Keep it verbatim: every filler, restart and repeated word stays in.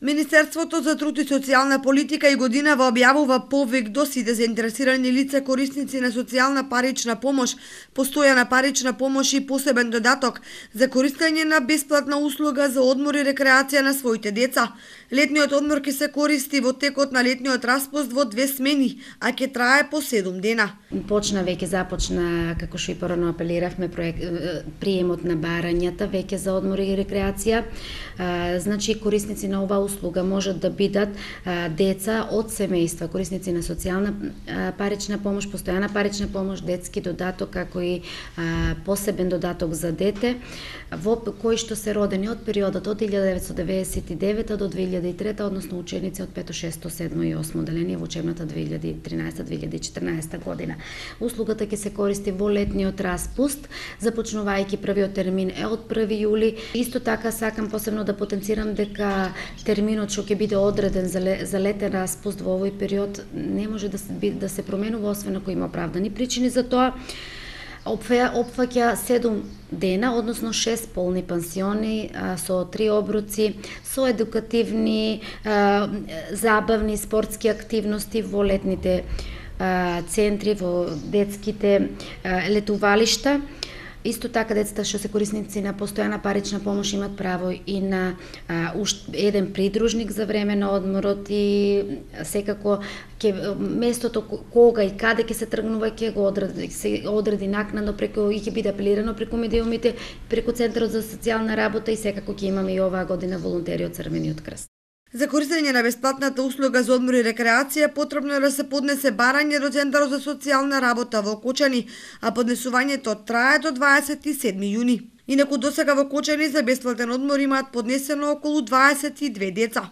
Министерството за труд и социјална политика и годинава објавува повик до сите заинтересирани лица корисници на социјална парична помош, постојана парична помош и посебен додаток за користење на бесплатна услуга за одмор и рекреација на своите деца. Летниот одмор ќе се користи во текот на летниот распуст во две смени, а ќе трае по седум дена. Почна веќе започна, како што и порано апелиравме, проект, приемот на барањата веќе за одмор и рекреација. А, значи корисници на оваа услуга можат да бидат а, деца од семејства, корисници на социјална а, парична помош, постојана парична помош, детски додаток, како и а, посебен додаток за дете, во кои што се родени од периодот од илјада деветстотини деветдесет и девета до две илјади и трета, односно ученици од пето, шесто, седмо и осмо оделение во учебната две илјади и тринаесета две илјади и четрнаесета година. Услугата ќе се користи во летниот распуст, започнувајќи првиот термин е од први јули. Исто така сакам посебно да потенцирам дека терминот што ќе биде одреден за, ле, за летен распуст во овој период не може да се, да се променува освен ако има оправдани причини за тоа. Опфаќа седум дена, односно шест полни пансиони а, со три обруци, со едукативни, а, забавни, спортски активности во летните а, центри, во детските а, летувалишта. Исто така децата што се корисници на постојана парична помош имат право и на а, уш, еден придружник за време на одморот и секако ќе местото кога и каде ќе се тргнува ќе го одреди, се одреди накнадно преку и ќе биде апелирано преку медиумите, преку Центарот за социјална работа и секако ќе имаме и оваа година волонтери од Црвениот крст. За користење на бесплатната услуга за одмор и рекреација потребно е да се поднесе барање до Центарот за социјална работа во Кочани, а поднесувањето трае до дваесет и седми јуни. Инаку досега во Кочани за бесплатен одмор имаат поднесено околу дваесет и две деца.